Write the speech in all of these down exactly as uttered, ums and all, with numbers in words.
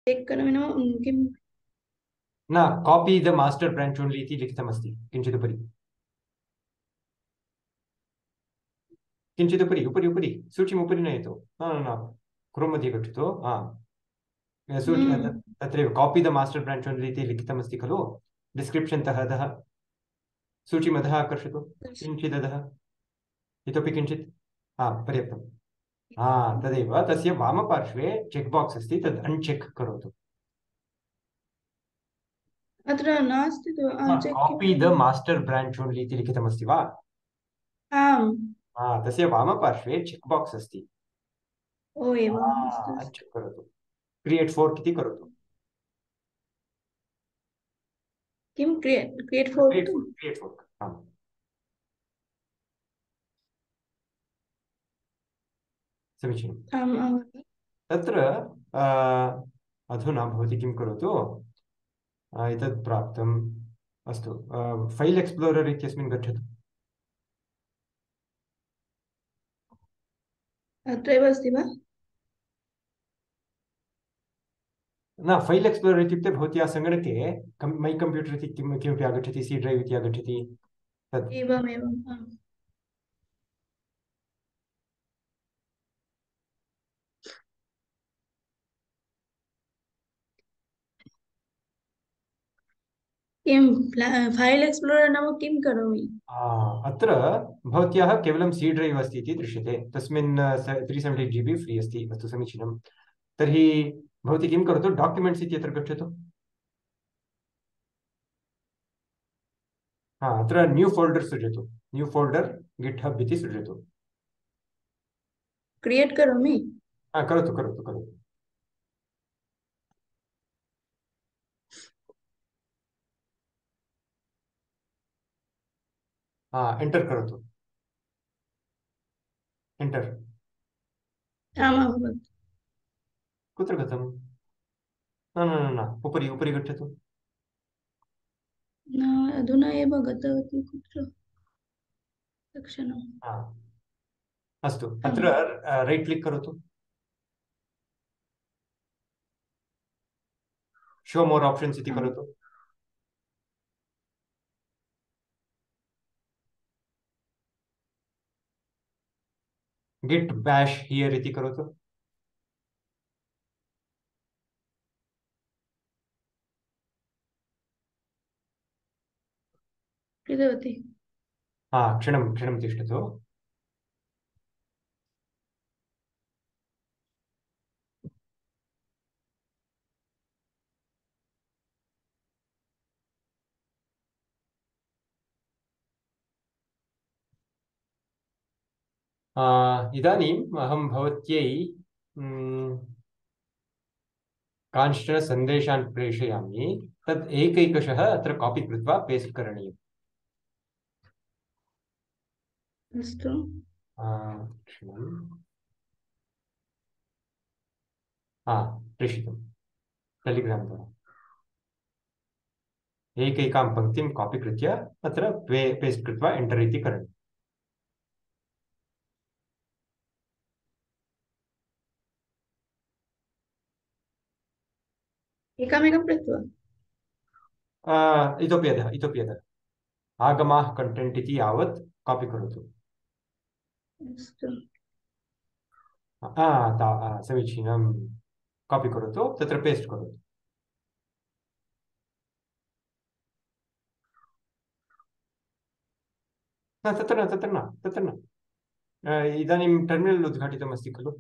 Check करोमि नाम किं न copy the master branch only इति लिखितमस्ति किञ्चित् उपरि किञ्चित् उपरि उपरि उपरि सूचीम् उपरि नयतु न न न क्रोम् मध्ये गच्छतु हा सूची हम्म तत्रैव copy the master branch only इति लिखितमस्ति खलु डिस्क्रिप्शन् तः अधः सूचीमधः आकर्षतु किञ्चिदधः इतोपि किञ्चित् हा पर्याप्तं हा तदेव तस्य वामपार्श्वे चेक् बाक्स् अस्ति तद् अण्चेक् करोतु अत्र नास्ति तु चेक् किं कापी द करोमि मास्टर् ब्राञ्च् ओन्ली इति लिखितमस्ति वा आम् हा तस्य वामपार्श्वे चेक् बाक्स् अस्ति ओ एवम् अस्तु हा अस्तु अण्चेक् करोतु क्रियेट् फोर्क् इति करोतु किं create create for create to fork create fork आम् समीचीनम् आम् आम् तत्र आ, अधुना भवती किं करोतु आ, एतत् प्राप्तम् अस्तु फैल् एक्स्प्लोरर् इत्यस्मिन् गच्छतु अत्रैव अस्ति वा न फैल् एक्स्प्लोरर् इत्युक्ते भवत्याः सङ्गणके कं मै कम्प्यूटर् इति किं किमपि आगच्छति सी ड्रैव् इति आगच्छति तत् एवमेवम् आम् किं फैल् एक्स्प्लोरर् नाम किं करोमि आ, अत्र भवत्याः केवलं सी ड्रैव् अस्ति इति दृश्यते तस्मिन् three seventy G B free अस्ति अस्तु समीचीनं तर्हि भवती किं करोतु डाक्युमेण्ट्स् इत्यत्र गच्छतु हा अत्र न्यू फोल्डर् सृजतु न्यू फोल्डर् गिट् हब् इति सृजतु क्रियेट् करोमि हा करोतु करोतु करोतु हा एण्टर् करोतु एण्टर् आम् अभवत् कुत्र गतं न न न न उपरि उपरि गच्छतु न अधुना एव गतवती कुत्र तत्क्षणम् हा अस्तु आम् अत्र रैट् क्लिक् करोतु शो मोर् आप्शन्स् इति आम् करोतु गिट् बैश् हियर् इति करोतु कृतवती हा क्षणं क्षणं तिष्ठतु आ, इदानीम् अहं भवत्यै म्, कांश्चन सन्देशान् प्रेषयामि तत् एकैकशः अत्र कापि कृत्वा पेस्ट् करणीयम् अस्तु आ, क्षणं हा प्रेषितं टेलिग्राम् द्वारा एकैकां पङ्क्तिं कापि कृत्य अत्र पे पेस्ट् कृत्वा एण्टर् इति करणीयम् एकमेकं कृत्वा आ, इतोपि अधः इतोपि अधः आगमाः कण्टेण्ट् इति यावत् कापि करोतु अस्तु आ, ता आ, समीचीनं कापि करोतु तत्र पेस्ट् करोतु न तत्र न तत्र न तत्र न आ, इदानीं टर्मिनल् उद्घाटितमस्ति खलु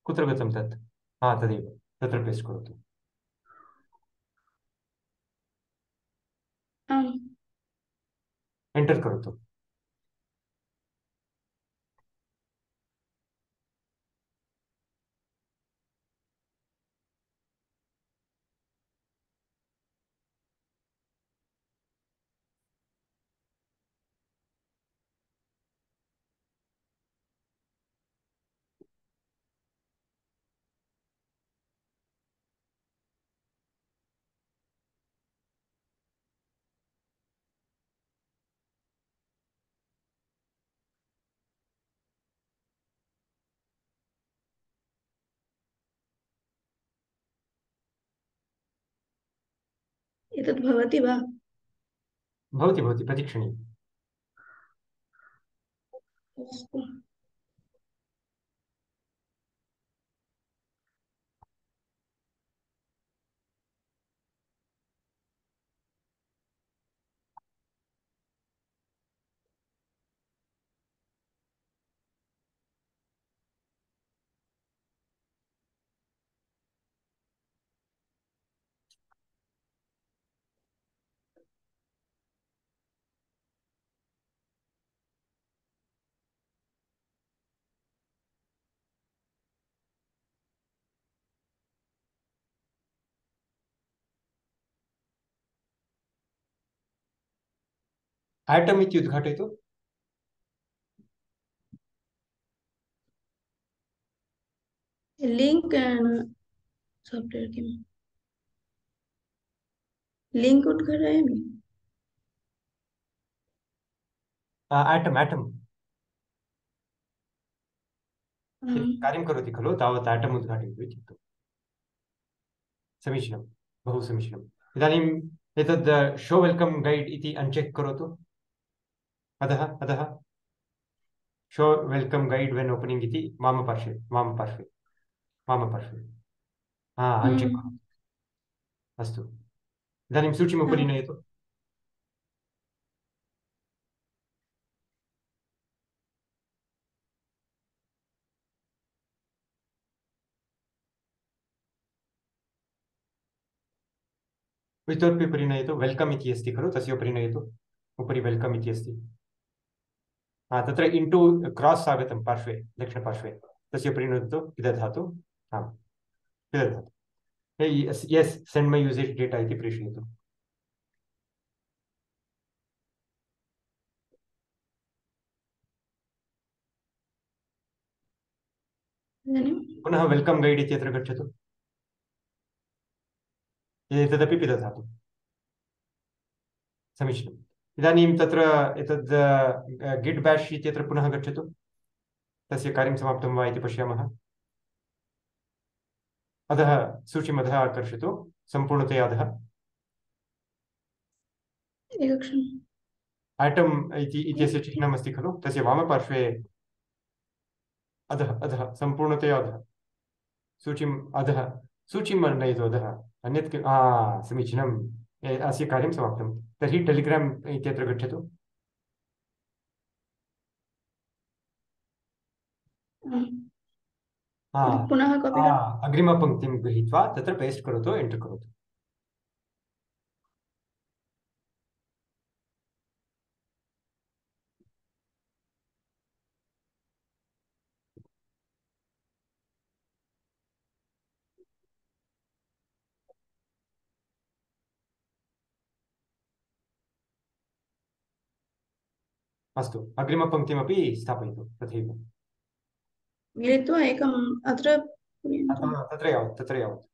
कुत्र गतं तत् हा तदेव तत्र पेस्ट् करोतु आम् एण्टर् करोतु एतत् भवति वा? भवति भवति प्रतीक्षणीयम्। अस्तु। आटम् इति उद्घाटयतु। लिङ्क् साफ्ट्वेर् किम्? लिङ्क् उद्घाटयामि। आटम् आटम् यत् कार्यं करोति खलु तावत् आटम् उद्घाटयतु इत्युक्तम्। समीचीनं, बहु समीचीनम्। इदानीम् एतद् शो वेल्कम् गैड् इति अनचेक् करोतु। अधः अधः show welcome guide when opening इति वामपार्श्वे वामपार्श्वे वामपार्श्वे हा अनचेक् करोतु। अस्तु, इदानीं सूचीम् उपरि नयतु। इतोपि उपरि नयतु। वेल्कम् इति अस्ति खलु, तस्य उपरि नयतु। उपरि वेल्कम् इति अस्ति। हा, तत्र इण्टु क्रास् आगतं पार्श्वे दक्षिणपार्श्वे, तस्य उपरि नुदतु। पिदधातु। आम्, पिदधातु। यस् यस् सेण्ड् मै यूसेज् डेटा इति प्रेषयतु। पुनः वेल्कम् गैड् इत्यत्र गच्छतु। एतदपि पिदधातु। समीचीनम्। इदानीं तत्र एतद् गिट् बेश् इत्यत्र पुनः गच्छतु। तस्य कार्यं समाप्तं वा इति पश्यामः। अधः सूचीम् अधः आकर्षतु, सम्पूर्णतया अधः। एकक्षणम्। आटम् इति इत्यस्य चिह्नम् अस्ति खलु, तस्य वामपार्श्वे अधः अधः सम्पूर्णतया अधः सूचीम् अधः सूचीं नयतु अधः। अन्यत् किम्? आ समीचीनम्, अस्य कार्यं समाप्तं। तर्हि टेलिग्राम् इत्यत्र गच्छतु। पुनः कापि अग्रिमपङ्क्तिं गृहीत्वा तत्र पेस्ट् करोतु, एण्टर् करोतु। अस्तु, अग्रिमपङ्क्तिमपि स्थापयतु तथैव। मिलित्वा एकम् अत्र तत्र यावत् तत्र यावत्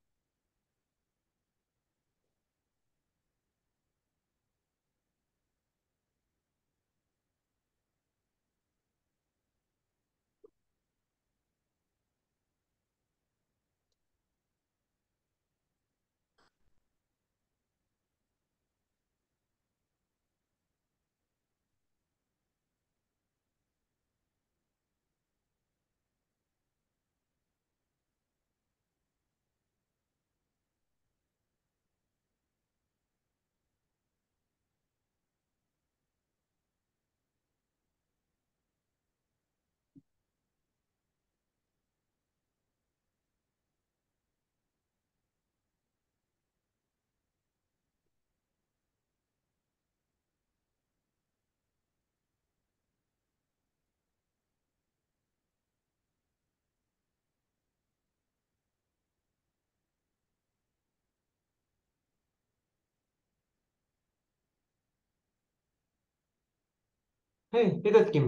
हे एतत् किम्?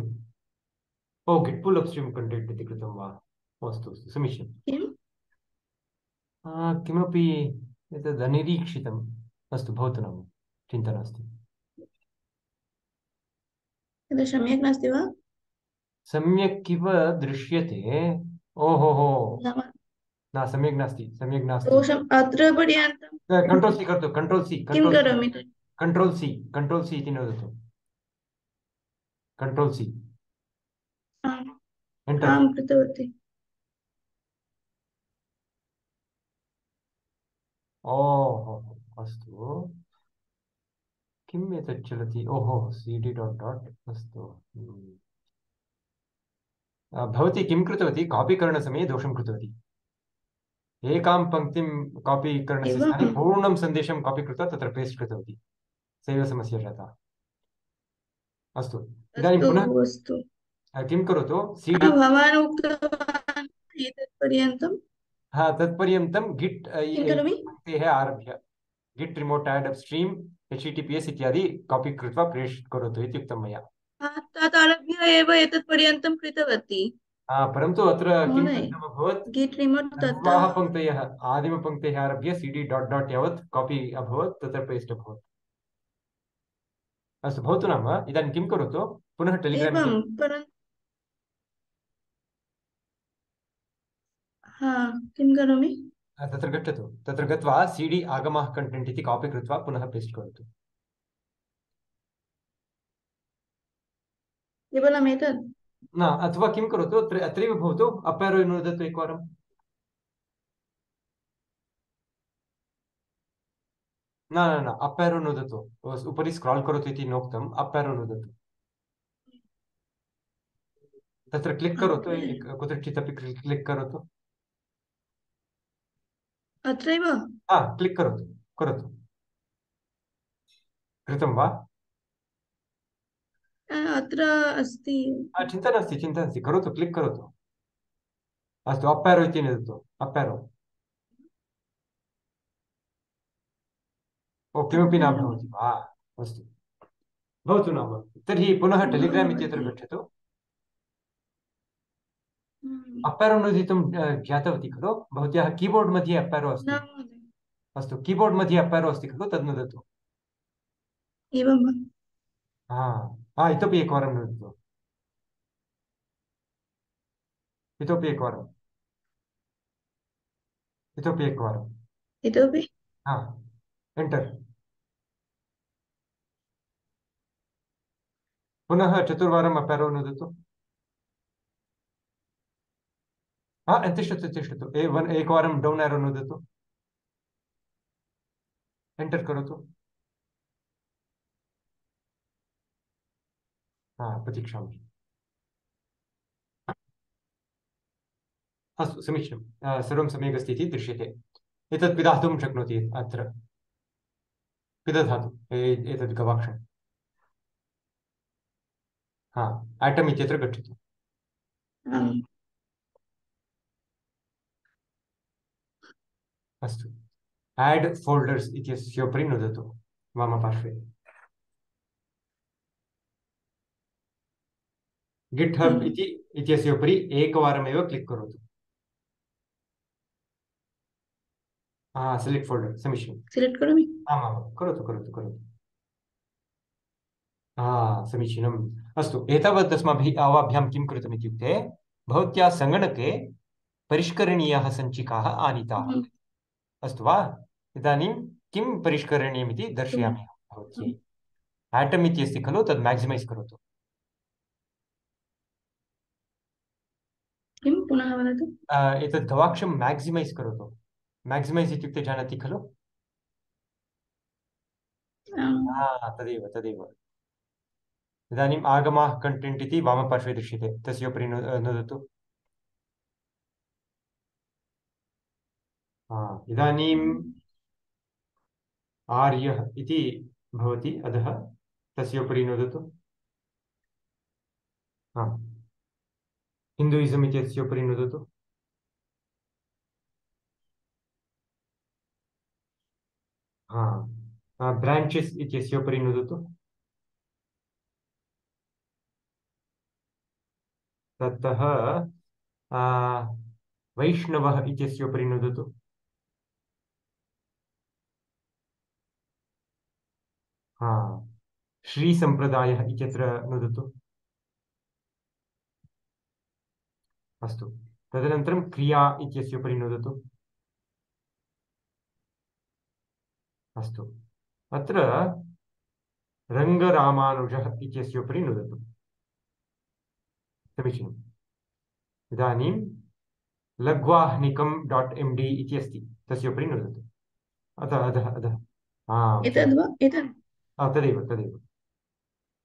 ओ गिट् पुल् अप्स्ट्रीम् कण्टेण्ट् इति कृतं वा? अस्तु अस्तु, समीचीनं। किमपि एतद् अनिरीक्षितम्। अस्तु, भवतु नाम, चिन्ता नास्ति। एतत् सम्यक् नास्ति वा? सम्यक् इव दृश्यते। ओहो हो, न सम्यक् नास्ति सम्यक् नास्ति दोषम् अत्र पर्यन्तं कंट्रोल सी करोतु कंट्रोल सी किं कंट्रोल सी करोमि तर्हि? कंट्रोल सी कंट्रोल सी इति नोदतु कंट्रोल सी आम् एंटर आं कृतवती। ओहो अस्तु किम् एतत् चलति ओहो cd डॉट डॉट अस्तु हम्म। अ, भवती किं कृतवती कॉपी करणसमये दोषं कृतवती एकां पङ्क्तिं कॉपी करणस्य स्थाने एवम् पूर्णं सन्देशं कॉपी कृत्वा तत्र पेस्ट् कृतवती सा एव समस्या जाता अस्तु इदानीं अस्तु पुनः अस्तु। अ, किं करोतु हा, cd भवान् उक्तवान् एतत् पर्यन्तं हा तत्पर्यन्तं गिट् किं करोमि? पङ्क्तेः आरभ्य गिट् रिमोट एड अपस्ट्रीम एचटीटीपीएस इत्यादि कॉपी कृत्वा पेस्ट् करोतु इति उक्तं मया हा, तत् आरभ्य एव एतत् पर्यन्तं कृतवती हा, परन्तु अत्र किं महोदय। दग्धम् अभवत् गिट् रिमोट् ततः सर्वाः पङ्क्तयः आदिमपङ्क्तेः आरभ्य cd डॉट डॉट यावत् कॉपी अभवत् तत्र पेस्ट् अभवत् अस्तु भवतु नाम इदानीं किं करोतु पुनः टेलिग्राम् एवं इति परन्तु हा, किं करोमि? तत्र गच्छतु तत्र गत्वा cd आगमः कण्टेण्ट् इति कापी कृत्वा पुनः पेस्ट् करोतु केवलम् एतत्? न अथवा किं करोतु अत्र अत्रैव भवतु अप् एरो नुदतु एकवारं न न न अप् एरो नुदतु उपरि स्क्राल् करोतु इति नोक्तम् अप् एरो नुदतु तत्र क्लिक् करोतु अग्रे एक- कुत्रचित् अपि क्लिक् करोतु अत्रैव? हा क्लिक् करोतु करोतु कृतं वा अ, अत्र अस्ति। हा, चिन्ता नास्ति चिन्ता नास्ति करोतु क्लिक् करोतु अस्तु अप् एरो इति नुदतु अप् एरो ओ किमपि न अपेरम्। भवति वा अस्तु भवतु नाम तर्हि पुनः टेलिग्राम् इत्यत्र महोदय। गच्छतु हम्म, अप् एरो नुदितुं अ, ज्ञातवती खलु भवत्याः कीबोर्ड् मध्ये अप् एरो न अस्ति महोदय। अस्तु कीबोर्ड् मध्ये अप् एरो अस्ति खलु तद् नुदतु एवं वा? हा हा इतोपि एकवारं नुदतु इतोपि एकवारम् इतोपि एकवारं इतोपि? हा एण्टर् पुनः चतुर्वारम् अप् एरो नुदतु हा तिष्ठतु तिष्ठतु ए वन् एकवारं डौन् एरो नुदतु एण्टर् करोतु हा प्रतीक्षामि अस्तु समीचीनं अ, सर्वं सम्यक् अस्ति इति दृश्यते एतत् पिधातुं शक्नोति अत्र पिदधातु ए- एतत् गवाक्षं हा आटम् इत्यत्र गच्छतु आम्। अस्तु एड् फोल्डर्स् इत्यस्योपरि नुदतु वामपार्श्वे गिट् हब् आम्। इति इत्यस्योपरि एकवारमेव क्लिक् करोतु हा सेलेक्ट् फोल्डर् समीचीनम् सिलेक्ट् करोमि? आमां करोतु करोतु करोतु हा समीचीनम् अस्तु एतावत् अस्माभिः अवाभ्यां किं कृतम् इत्युक्ते भवत्याः सङ्गणके परिष्करणीयाः सञ्चिकाः आनीताः हम्म, अस्तु वा इदानीं किं परिष्करणीयमिति अस्तु। दर्शयामि भवत्यै आम्। आटम् इति अस्ति खलु तद् मैक्सिमैस् करोतु किं पुनः वदतु? अ, एतद् गवाक्षं मैक्सिमैस् करोतु मैक्सिमैस् इत्युक्ते जानाति खलु आम्। हा तदेव तदेव इदानीम् आगमाः कण्टेण्ट् इति वामपार्श्वे दृश्यते तस्योपरि नु नुदतु हा इदानीम् आर्यः इति भवति अधः तस्योपरि नुदतु हा हिन्दुइसम् इत्यस्योपरि नुदतु हा ब्राञ्चेस् इत्यस्योपरि नुदतु ततः आ, वैष्णवः इत्यस्योपरि नुदतु हा श्रीसम्प्रदायः इत्यत्र नुदतु अस्तु तदनन्तरं क्रिया इत्यस्य उपरि नुदतु। अस्तु, अत्र रङ्गरामानुजः इत्यस्य उपरि नुदतु। समीचीनम्। इदानीं लघ्वाह्निकं डाट् एम् डी इति अस्ति, तस्य उपरि नुदतु। अधः अधः अधः एतद् वा एतद् तदेव तदेव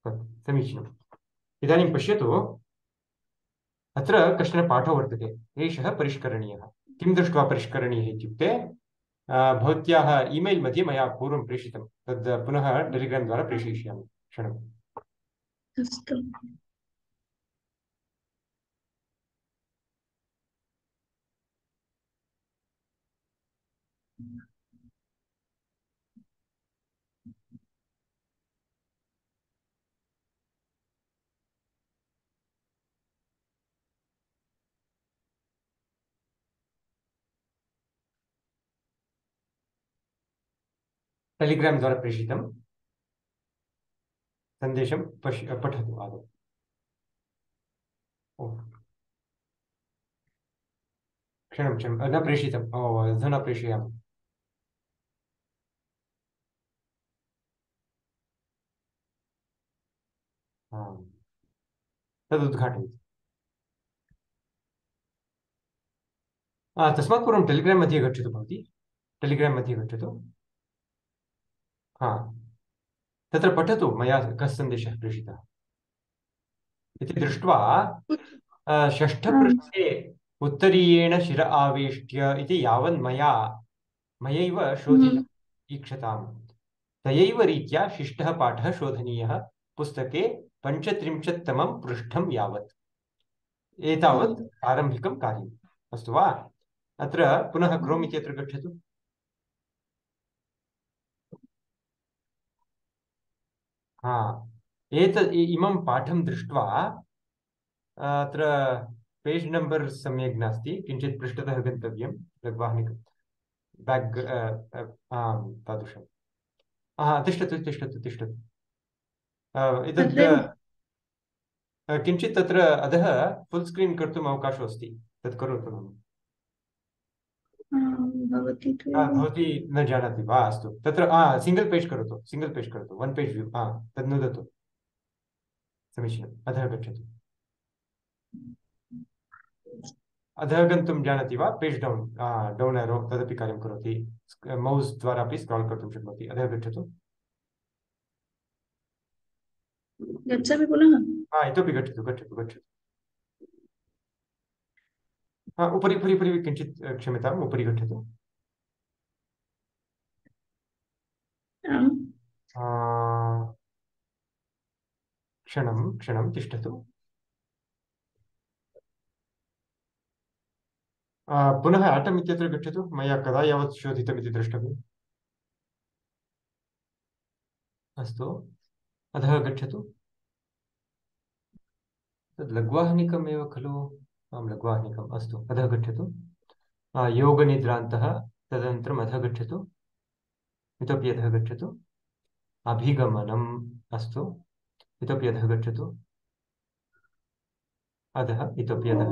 तत् समीचीनम्। इदानीं पश्यतु, अत्र कश्चन पाठो वर्तते, एषः परिष्करणीयः। किं दृष्ट्वा परिष्करणीयः इत्युक्ते भवत्याः ईमेल् मध्ये मया पूर्वं प्रेषितं, तद् पुनः टेलिग्राम् द्वारा प्रेषयिष्यामि। क्षणम्। अस्तु। टेलिग्राम् द्वारा प्रेषितं सन्देशं पश्य पठतु आदौ। ओ क्षणं क्षणं न प्रेषितम्। ओ अधुना प्रेषयामि। तदुद्घाटयतु। तस्मात् पूर्वं टेलिग्राम् मध्ये गच्छतु भवती। टेलिग्राम् मध्ये गच्छतु। हा, तत्र पठतु मया कः सन्देशः प्रेषितः इति दृष्ट्वा षष्ठपृष्ठे उत्तरीयेण शिर आवेष्ट्य इति यावन् मया मयैव शोधितम् ईक्षताम्, तयैव रीत्या शिष्टः पाठः शोधनीयः पुस्तके पञ्चत्रिंशत्तमं पृष्ठं यावत्। एतावत् आरम्भिकं कार्यम्। अस्तु वा? अत्र पुनः क्रोम् इत्यत्र गच्छतु। हा, एतत् इमं पाठं दृष्ट्वा अत्र पेज् नम्बर् सम्यक् नास्ति, किञ्चित् पृष्ठतः गन्तव्यं। लघ्वाह्निकं बेक् आम् तादृशं। हा, तिष्ठतु तिष्ठतु तिष्ठतु। एतद् किञ्चित् तत्र अधः फुल् स्क्रीन् कर्तुम् अवकाशो अस्ति, तत् करोतु। भवती न जानाति वा? अस्तु, तत्र सिङ्गल् पेज् करोतु, सिङ्गल् पेज् करोतु, वन् पेज् व्यू। हा, तद् नुदतु। समीचीनम्। अधः गच्छतु। अधः गन्तुं जानाति वा? पेज् डौन् डौन् एरो तदपि कार्यं करोति। मौस् द्वारा अपि स्क्राल् कर्तुं शक्नोति। अधः गच्छतु। गच्छामि पुनः? हा, इतोपि गच्छतु गच्छतु गच्छतु। हा, उपरि उपरि उपरि किञ्चित् क्षम्यताम्, उपरि गच्छतु। क्षणं क्षणं तिष्ठतु। पुनः आटम् इत्यत्र गच्छतु। मया कदा यावत् शोधितमिति द्रष्टव्यम्। अस्तु, अधः गच्छतु। तद् लघ्वाह्निकमेव खलु? आं, लघ्वाह्निकम्। अस्तु, अधः गच्छतु। योगनिद्रान्तः, तदनन्तरम् अधः गच्छतु। इतोपि अधः गच्छतु। अभिगमनम्। अस्तु, इतोपि अधः गच्छतु। अधः, इतोपि अधः,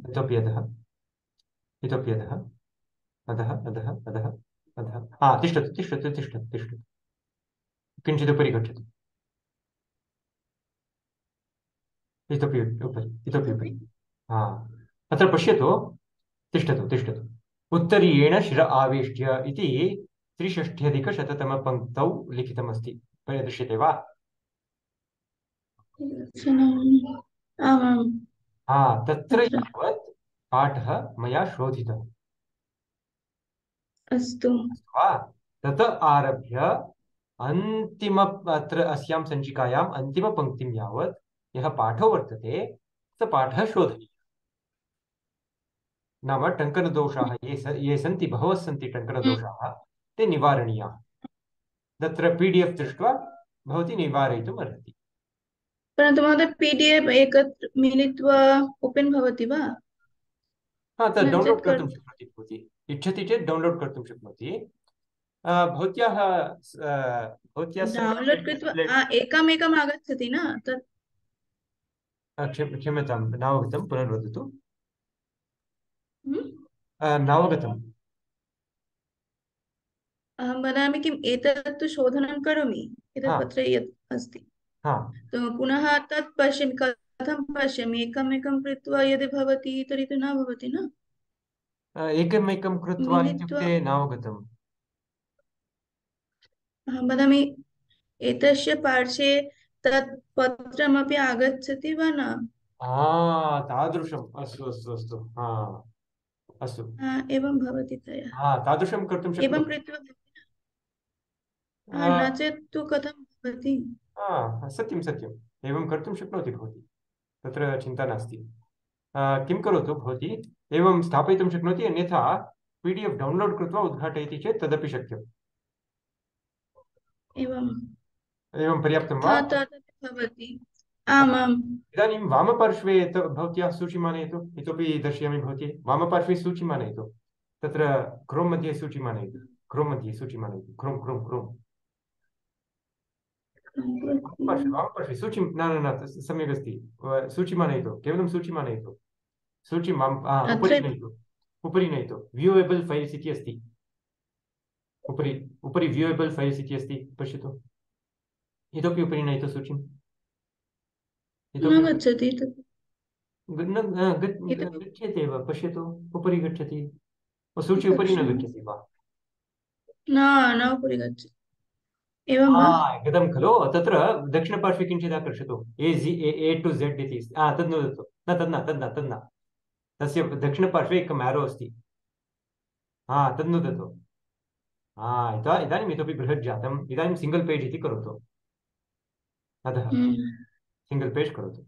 इतोपि अधः, इतोपि अधः, अधः अधः अधः अधः। हा, तिष्ठतु तिष्ठतु तिष्ठतु तिष्ठतु। किञ्चित् उपरि गच्छतु। इतोपि उपरि, इतोपि उपरि। हा, अत्र पश्यतु। तिष्ठतु तिष्ठतु। उत्तरीयेण शिर आवेष्ट्य इति त्रिषष्ट्यधिकशततमपङ्क्तौ लिखितमस्ति। दृश्यते वा? हा, तत्र यावत् पाठः मया शोधितः। अस्तु वा? तत आरभ्य अन्तिम अत्र अस्यां सञ्चिकायाम् अन्तिमपङ्क्तिं यावत् यः पाठो वर्तते स पाठः शोधनीयः। नाम टङ्कनदोषाः ये स ये सन्ति, बहवः सन्ति टङ्कनदोषाः, ते निवारणीयाः। तत्र पी डी एफ् दृष्ट्वा भवती निवारयितुम् अर्हति। परन्तु महोदय पी डी एफ् एकत्र मिलित्वा ओपेन् भवति वा? हा, तत् डौन्लोड् कर्तुं शक्नोति भवती। इच्छति चेत् डौन्लोड् कर्तुं शक्नोति। भवत्याः भवत्याः डौन्लोड् कृत्वा एकमेकम् आगच्छति न? तत् क्षम्यतां, नावगतं, पुनर्वदतु। हम्म? नावगतम्। अहं वदामि किम्, एतत् तु शोधनं करोमि, एतत् हाँ पत्रे यत् अस्ति, हाँ। तो पुनः तत् पश्यामि, कथं पश्यामि, एकम् एकं कृत्वा यदि भवति तर्हि तु न भवति न। एकमेकं कृत्वा मिलित्वा इत्युक्ते नावगतम्। अहं वदामि, एतस्य पार्श्वे तत् पत्रमपि आगच्छति वा न। हा तादृशम्, अस्तु अस्तु अस्तु, हा अस्तु। हा, एवं भवति तया, हा तादृशं कर्तुं एवं शक्नोति। कृत्वा, हा, आ, न चेत् तु कथं भवति। हा सत्यं सत्यम्, एवं कर्तुं शक्नोति भवती, तत्र चिन्ता नास्ति। आ, किं करोतु भवती, एवं स्थापयितुं शक्नोति, अन्यथा पी डी एफ् डौन्लोड् कृत्वा उद्घाटयति चेत् तदपि शक्यम्। एवं, एवं पर्याप्तं वा? हा, तदपि भवति। आमाम्। इदानीं वामपार्श्वे यत् भवत्याः सूचीम् आनयतु, इतोपि दर्शयामि भवती, वामपार्श्वे सूचीम् आनयतु, तत्र क्रोम् मध्ये सूचीम् आनयतु, क्रोम् मध्ये सूचीम् आनयतु, क्रोम् क्रोम् क्रोम् वामपार्श्वे वामपार्श्वे सूचीं, न न न तत् सम्यक् अस्ति, व- सूचीम् आनयतु, केवलं सूचीम् आनयतु, सूचीं वाम आ, उपरि अत्र नयतु, उपरि नयतु, व्यूवेबल् फैल्स् इति अस्ति, उपरि उपरि व्यूवेबल् फैल्स् इति अस्ति, पश्यतु, इतोपि उपरि नयतु सूचीम्, न इतोपि उपरि, गच्छति तत्, ग- न न, ग- ग- इतोपि गच्छति एव, पश्यतु, उपरि गच्छति, सूची उपरि न पश्यामि, गच्छति वा? न, न उपरि गच्छति, एवं हा वा। गतं खलु, तत्र दक्षिणपार्श्वे किञ्चित् आकर्षतु, ए जि ए ए टु झेड् इति अस्ति, हा तद् नुदतु, न तद् न तद् न तद् न, तस्य दक्षिणपार्श्वे एकम् एरो अस्ति, हा तद् नुदतु, हा इदा इदानीम् इतोपि बृहत् जातम्, इदानीं सिङ्गल् पेज् इति करोतु, अधः हम्म, सिङ्गल् पेज् करोतु,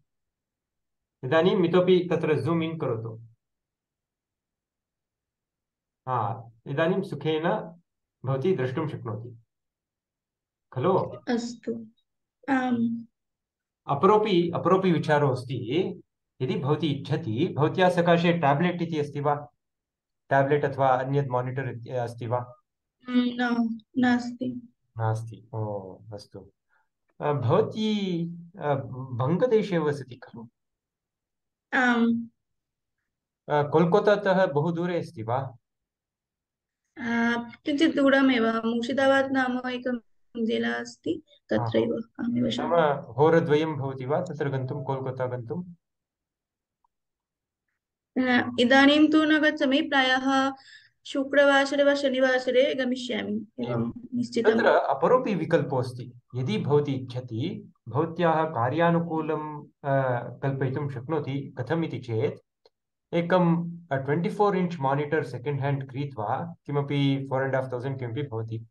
इदानीम् इतोपि तत्र जूम् इन् करोतु, हा इदानीं सुखेन भवती द्रष्टुं शक्नोति खलु। अस्तु, आम्, अपरोपि अपरोपि विचारो अस्ति, यदि भवती इच्छति भवत्याः सकाशे टाब्लेट् इति अस्ति वा, टाब्लेट् अथवा अन्यत् मानिटर् अस्ति वा? हम्म, न, नास्ति। नास्ति, ओ अस्तु। अ, भवती अ, बङ्गदेशे वसति खलु? आम्, अ, कोल्कतातः बहु दूरे अस्ति वा? आ, किञ्चित् दूरमेव, मुर्शिदाबाद् नाम एकं जिला अस्ति, हा, हा। तत्रैव अहं नाम वसामि। होरद्वयं भवति वा तत्र गन्तुं, कोल्कता गन्तुं? न, इदानीं तु न गच्छामि, प्रायः शुक्रवासरे वा शनिवासरे गमिष्यामि, एवं, एवं निश्चितम्। तत्र अपरोपि विकल्पोऽस्ति, यदि भवती इच्छति भवत्याः कार्यानुकूलं अ, कल्पयितुं शक्नोति, कथम् इति चेत् एकं twenty four inch monitor second hand क्रीत्वा, किमपि फोर् अण्ड् हाफ् तौसण्ड् किमपि भवति,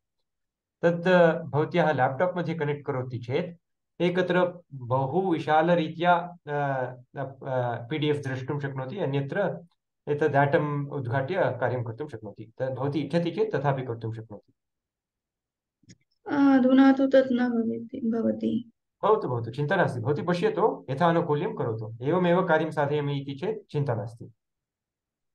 तत् भवत्याः लेप्टाप् मध्ये कनेक्ट् करोति चेत् एकत्र बहु विशालरीत्या पी डी एफ् द्रष्टुं शक्नोति, अन्यत्र एतद् डाटम् उद्घाट्य कार्यं कर्तुं शक्नोति, तद् भवती इच्छति चेत् तथापि कर्तुं शक्नोति। आ, अधुना तु तत् न भवति भवति। भवतु भवतु, चिन्ता नास्ति, भवती पश्यतु, यथानुकूल्यं करोतु, एवमेव कार्यं साधयामि इति चेत् चिन्ता नास्ति,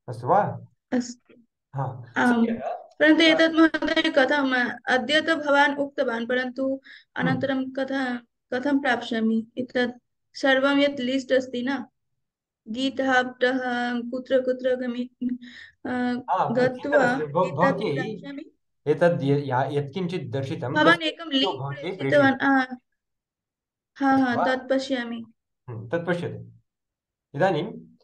अस्तु वा? अस्तु, हा आम्, सद्यः परन्तु अ, एतत् महोदय कथम्, अद्य तु भवान् उक्तवान्, परन्तु हम्म, अनन्तरं कथा कथं प्राप्स्यामि एतत् सर्वं यत् लिस्ट् अस्ति न, गीतहाब्दः, कुत्र कुत्र गमि आ, हा चिन्ता गत्वा नास्ति, भव- एतत् भवत्यै प्राप्स्यामि। एतद् य- या- यत्किञ्चित् दर्शितं भवान् तस्य एकं वीडियो लिङ्क् भवत्यै प्रेषितवान्, प्रेषयति, आ, हा अस्तु हा, वा? तत् पश्यामि। हम्म, तत् पश्यतु, इदानीं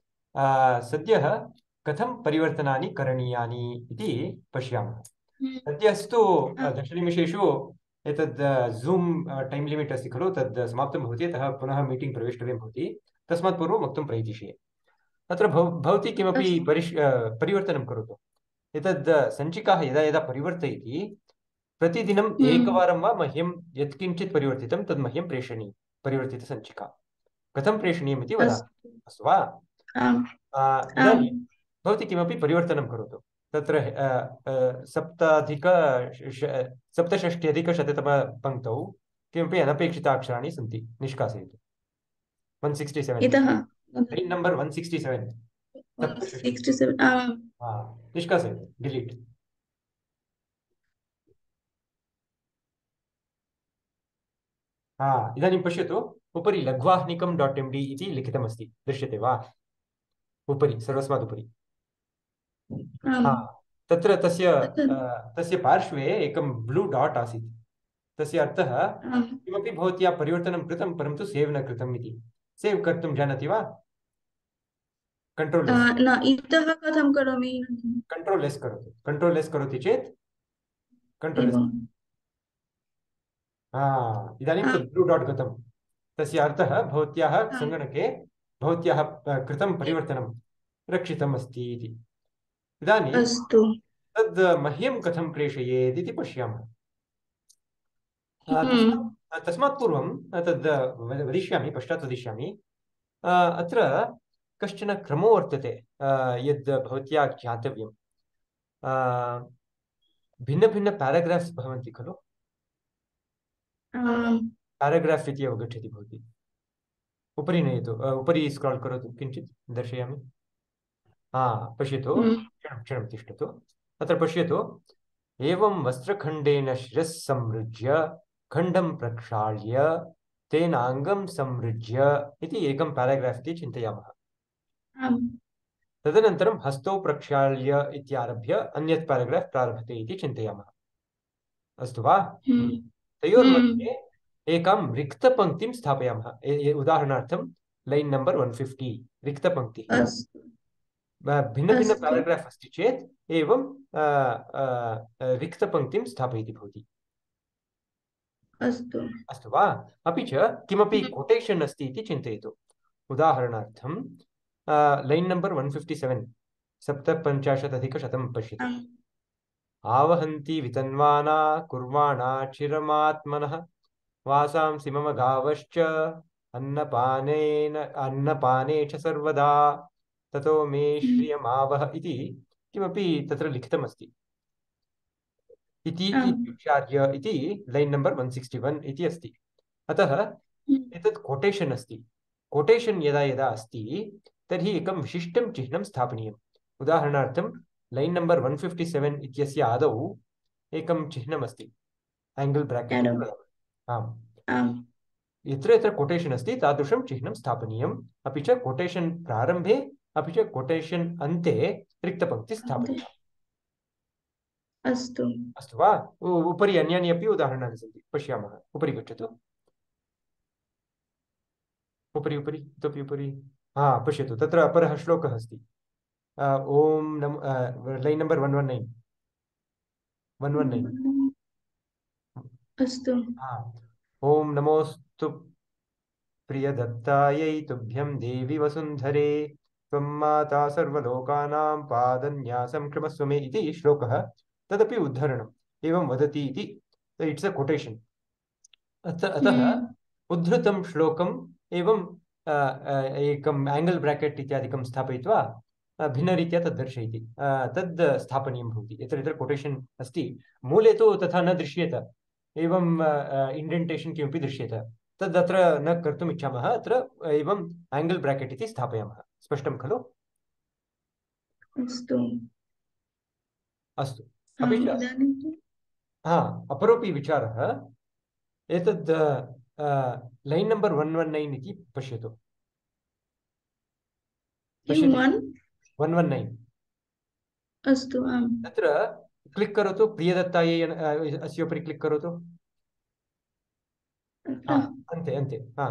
आ, सद्यः कथं परिवर्तनानि करणीयानि इति पश्यामः। हम्म, सद्यस्तु आ, अ, दशनिमिषेषु एतद् ज़ूम् टैम् लिमिट् अस्ति खलु, तद् समाप्तं भवति, अतः पुनः मीटिङ्ग् प्रवेष्टव्यं भवति, तस्मात् पूर्वं वक्तुं प्रयतिष्ये। अत्र भव भवती किमपि अस्तु, परिष् अ, परिवर्तनं करोतु, एतद् सञ्चिकाः यदा यदा परिवर्तयति प्रतिदिनम् हम्म, एकवारं वा मह्यं यत्किञ्चित् परिवर्तितं तद् मह्यं प्रेषणीयं, परिवर्तितसञ्चिका कथं प्रेषणीयम् इति वदामि, अस्तु, अस्तु वा? आम्, आ, आम्, इदानीं भवती किमपि परिवर्तनं करोतु, तत्र अ, अ, सप्ताधिक श- सप्तषष्ट्यधिकशततमपङ्क्तौ किमपि अनपेक्षिताक्षराणि सन्ति, निष्कासयतु, वन् सिक्स्टि सेवेन्, इतः line number one sixty seven, सप्तषष्टि, सिक्स्टि सेवेन्, आम्, हा निष्कासयतु, डिलीट्। हा इदानीं पश्यतु, उपरि लघ्वाह्निकं डाट् एम् डि इति लिखितमस्ति, दृश्यते वा? उपरि, सर्वस्मात् उपरि आम् हा तत्र तस्य तत् अ, तस्य पार्श्वे एकं ब्लू डाट् आसीत् तस्य अर्थः आम् किमपि भवत्या परिवर्तनं कृतं परन्तु सेव् न कृतम् इति सेव् कर्तुं जानाति वा कंट्रोल आ, एस् न इतः कथं करोमि कंट्रोल एस् करोतु कंट्रोल एस् करोति चेत् कंट्रोल एस् एवं हा इदानीं आम् तत् ब्लू डाट् गतं तस्य अर्थः भवत्याः आम् सङ्गणके भवत्याः अ, कृतं परिवर्तनं रक्षितम् अस्ति इति इदानीं अस्तु तद् मह्यं कथं प्रेषयेत् इति पश्यामः अ, हम्म तस्मात् तस्मात् पूर्वं तद् वद- वदिष्यामि पश्चात् वदिष्यामि अ, अत्र कश्चन क्रमो वर्तते अ, यद् भवत्या ज्ञातव्यं भिन्नभिन्न पेराग्राफ्स् भवन्ति खलु आम् पेराग्राफ् इति अवगच्छति भवती उपरि नयतु अ, उपरि स्क्राल् करोतु किञ्चित् दर्शयामि हा पश्यतु हम्म क्षणं क्षणं तिष्ठतु अत्र पश्यतु एवं वस्त्रखण्डेन शिरः संसृज्य खण्डं प्रक्षाल्य तेनाङ्गं संसृज्य इति एकं पेराग्राफ् इति चिन्तयामः आम् तदनन्तरं हस्तौ प्रक्षाल्य इत्यारभ्य अन्यत् पेराग्राफ् प्रारभते इति चिन्तयामः अस्तु वा हम्म हम्म तयोर्मध्ये एकां रिक्तपङ्क्तिं स्थापयामः ए- ए- उदाहरणार्थं लैन् नम्बर् वन् फिफ्टि रिक्तपङ्क्तिः अस्तु भिन्न भिन्न अस्तु पेराग्राफ् अस्ति चेत् एवं अ, अ, अ, रिक्तपङ्क्तिं स्थापयति भवती अस्तु अस्तु वा अपि च किमपि हम्म कोटेशन् अस्ति इति चिन्तयतु उदाहरणार्थं line number one fifty seven सप्तपञ्चाशदधिकशतं पश्यतु आम् आवहन्ति वितन्वाना कुर्वाणा चिरमात्मनः वासांसि मम गावश्च अन्नपानेन अन्नपाने च सर्वदा ततो मे हम्म श्रियमावह इति किमपि तत्र लिखितमस्ति इति आम् इत्युच्चार्य इति line number one sixty one इति अस्ति अतः हम्म एतत् कोटेशन् अस्ति कोटेशन् यदा यदा अस्ति तर्हि एकं विशिष्टं चिह्नं स्थापनीयम् उदाहरणार्थं line number one fifty seven इत्यस्य आदौ एकं चिह्नमस्ति एङ्गल् ब्राकेट् एवं इति वदामः आम् आम् यत्र यत्र कोटेशन् अस्ति तादृशं चिह्नं स्थापनीयम् अपि च कोटेशन् प्रारम्भे अपि च कोटेशन् अन्ते रिक्तपङ्क्तिः अन्ते स्थापनीया अस्तु अस्तु वा उ- उपरि अन्यानि अपि उदाहरणानि सन्ति पश्यामः उपरि गच्छतु उपरि उपरि इतोपि उपरि हा पश्यतु तत्र अपरः श्लोकः अस्ति अ, ॐ नम line number one one nine one one nine अस्तु हा ॐ नमोऽस्तु प्रियदत्तायै तुभ्यं देवि वसुन्धरे त्वं माता सर्वलोकानां पादन्यासं क्षमस्व मे इति श्लोकः तदपि उद्धरणम् एवं वदति इति इट्स् अ कोटेशन् अत अतः हम्म उद्धृतं श्लोकम् एवं अ, अ, एकम् एङ्गल् ब्राकेट् इत्यादिकं स्थापयित्वा अ, भिन्नरीत्या तद् दर्शयति अ, तद् स्थापनीयं भवति यत्र यत्र कोटेशन् अस्ति मूले तु तथा न दृश्येत एवं इण्डेण्टेशन् किमपि दृश्येत तद् अत्र न कर्तुम् इच्छामः अत्र एवम् एङ्गल् ब्राकेट् इति स्थापयामः स्पष्टं खलु अस्तु अस्तु अपि आम् च इदानीं तु हा अपरोपि विचारः एतद् line number one one nine इति पश्यतु किं पश्यति वन् वन् वन् नैन् अस्तु आम् तत्र क्लिक् करोतु प्रियदत्तायै अ, अस्य उपरि क्लिक् करोतु हा अत्र अन्ते अन्ते हा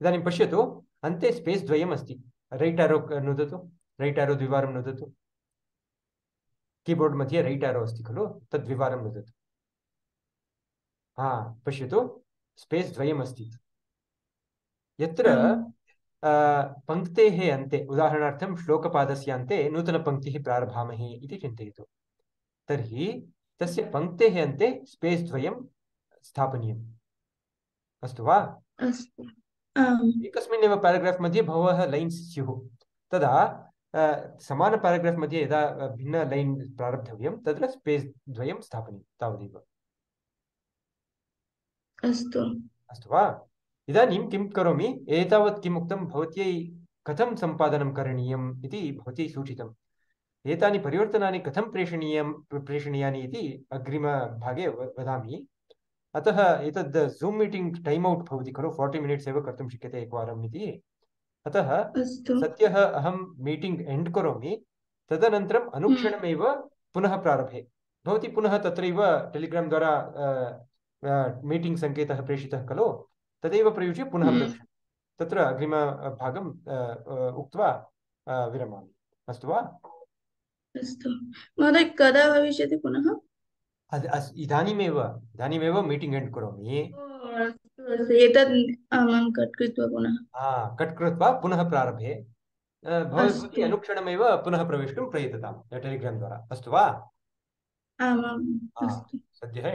इदानीं पश्यतु अन्ते स्पेस् द्वयम् अस्ति रैट् एरो नुदतु रैट् एरो द्विवारं नुदतु कीबोर्ड् मध्ये रैट् एरो अस्ति खलु तद् द्विवारं नुदतु हा पश्यतु स्पेस् द्वयम् अस्ति यत्र आम् अ, पङ्क्तेः अन्ते उदाहरणार्थं श्लोकपादस्य अन्ते नूतनपङ्क्तिः प्रारभामहे इति चिन्तयतु तर्हि तस्य पङ्क्तेः अन्ते स्पेस् द्वयं स्थापनीयम् अस्तु वा अस्तु आम् एकस्मिन्नेव पेराग्राफ् मध्ये बहवः लैन्स् स्युः तदा अ, समान पेराग्राफ् मध्ये यदा अ, भिन्न लैन् प्रारब्धव्यं तत्र स्पेस् द्वयं स्थापनीयं तावदेव अस्तु अस्तु वा इदानीं किं करोमि एतावत् किम् उक्तं भवत्यै कथं सम्पादनं करणीयम् इति भवती सूचितम् एतानि परिवर्तनानि कथं प्रेषणीयं प्रेषणीयानि इति अग्रिमभागे व- वदामि अतः एतद् ज़ूम् मीटिङ्ग् टैम् औट् भवति खलु फोर्टि मिनिट्स् एव कर्तुं शक्यते एकवारम् इति अतः अस्तु सद्यः अहं मीटिङ्ग् एण्ड् करोमि तदनन्तरम् अनुक्षणमेव पुनः प्रारभे भवती पुनः तत्रैव टेलिग्राम् द्वारा मीटिङ्ग् सङ्केतः प्रेषितः खलु तदेव प्रयुज्य पुनः प्रविशतु तत्र अग्रिमभागं उक्त्वा विरमामि अस्तु वा अस्तु महोदय कदा भविष्यति पुनः इदानीमेव इदानीमेव मीटिङ्ग् एण्ड् करोमि एतद् अहं कट् कृत्वा पुनः कट् कृत्वा पुनः प्रारभे भवती अनुक्षणमेव पुनः प्रवेष्टुं प्रयततां टेलिग्राम् द्वारा अस्तु वा आमाम् अस्तु सद्यः